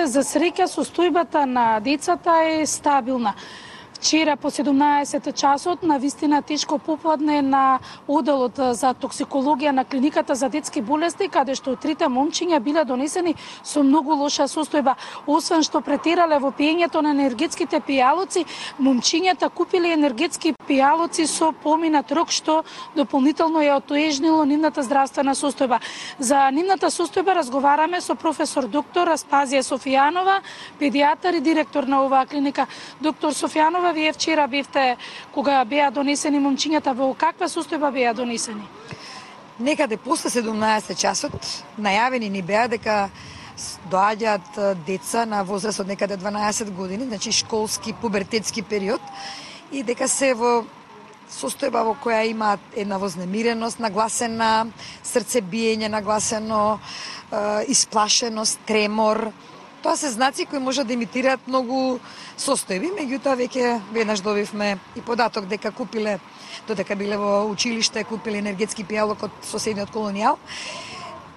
За среќа, состојбата на децата е стабилна. Вчера по 17 часот на вистина тешко попладне на оделот за токсикологија на клиниката за детски болести, каде што трите момчиња биле донесени со многу лоша состојба. Освен што претерале во пиењето на енергетските пијалоци, момчињата купиле енергетски пијалоци со поминат рок, што дополнително ја отоежнило нивната здравствена состојба. За нивната состојба разговараме со професор доктор Аспазија Софијанова, педијатар и директор на оваа клиника. Доктор Софијанова, вие вчера бевте кога беа донесени момчињата, во каква состојба беа донесени? Некаде после 17 часот најавени ни беа дека доаѓаат деца на возраст од некаде 12 години, значи школски, пубертетски период, и дека се во состојба во која има една вознемиреност, нагласена срцебиење, нагласено исплашеност, тремор. Тоа се знаци кои може да имитираат многу состојби, меѓутоа веќе веднаш добивме и податок дека купиле, додека биле во училиште, купиле енергетски пијалок од соседниот колонијал.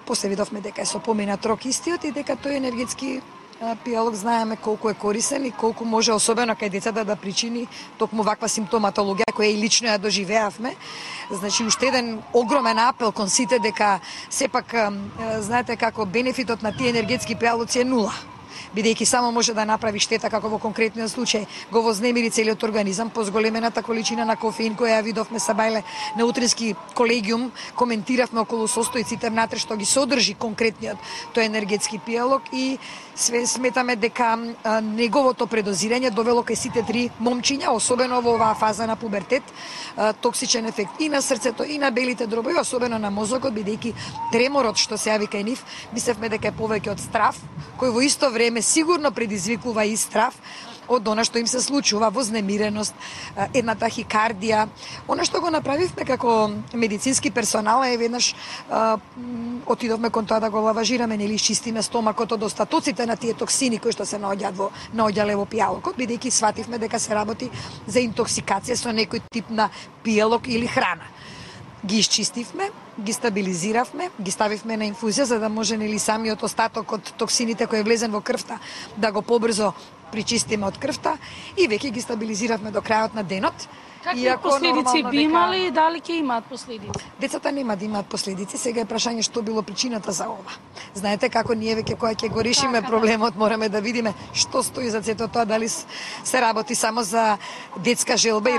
После видовме дека е со поминат рок истиот и дека тој енергетски пијалок знаеме колку е корисен и колку може, особено кај децата, да причини токму ваква симптоматологија која и лично ја доживеавме. Значи, уште еден огромен апел кон сите дека сепак знаете како бенефитот на тие енергетски пијалоци е нула, бидејќи само може да направи штета, како во конкретниот случај го вознемири целиот организам по зголемената количина на кофеин која ја видовме Сабајле на утрински колегиум, коментиравме околу состојците внатре што ги содржи конкретниот тој енергетски пијалок и сметаме дека неговото предозирање довело кај сите три момчиња, особено во оваа фаза на пубертет, токсичен ефект и на срцето, и на белите дробови, особено на мозокот, бидејќи треморот што се јави кај нив, мислевме дека е повеќе од страв, кој во исто време сигурно предизвикува и страв од она што им се случува, вознемиреност, една тахикардија. Она што го направивме како медицински персонал е веднаш отидовме кон тоа да го лаважираме, нели изчистиме стомакот од остатоците на тие токсини кои што се наоѓале во пијалокот, бидејќи свативме дека се работи за интоксикација со некој тип на пијалок или храна. Ги изчистивме, ги стабилизиравме, ги ставивме на инфузија за да може нели самиот остаток од токсините кој е влезен во крвта да го побрзо причистиме од крвта и веќе ги стабилизиравме до крајот на денот. Какви последици би имали и дали ќе имаат последици? Децата нема да имаат последици, сега е прашање што било причината за ова. Знаете како ние веќе кога ќе го решиме проблемот мораме да видиме што стои за сето тоа, дали се работи само за детска желба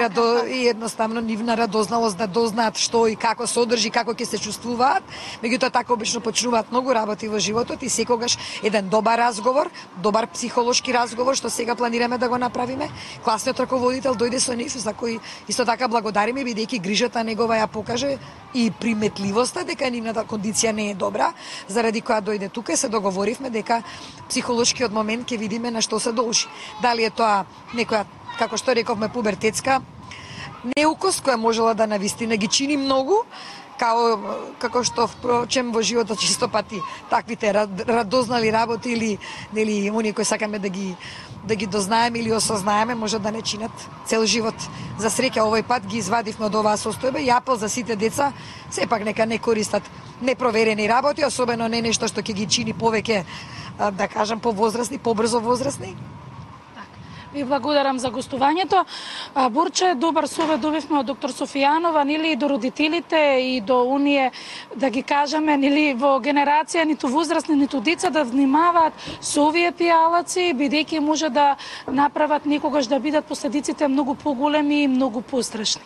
и едноставно нивна радозналост да дознаат што и како содржи, како ќе се чувствуваат. Меѓутоа така обично почнуваат многу работи во животот и секогаш еден добар разговор, добар психолошки разговор што сега планираме да го направиме. Класниот раководител дојде со нив, за кој исто така благодариме, бидејќи грижата негова ја покаже и приметливоста дека нивната кондиција не е добра, заради која дојде тука и се договоривме дека психолошкиот момент ќе видиме на што се должи. Дали е тоа некоја, како што рековме, пубертетска неукост која можела да навистина ги чини многу, како што впрочем во животот чисто пати таквите радознали работи или нели оние кои сакаме да ги дознаеме или осознаеме може да не чинат цел живот. За среќа овој пат ги извадивме од оваа состојба и апел за сите деца сепак нека не користат непроверени работи, особено не нешто што ќе ги чини повеќе, да кажам, повозрастни, побрзо возрастни. Ви благодарам за гостувањето. Борче, добар совет добивме од доктор Софијанова, нели и до родителите и до оние, да ги кажеме, нели во генерација ниту возрастни, ниту деца да внимаваат со овие пијалаци, бидејќи може да направат некогаш да бидат последиците многу поголеми и многу пострашни.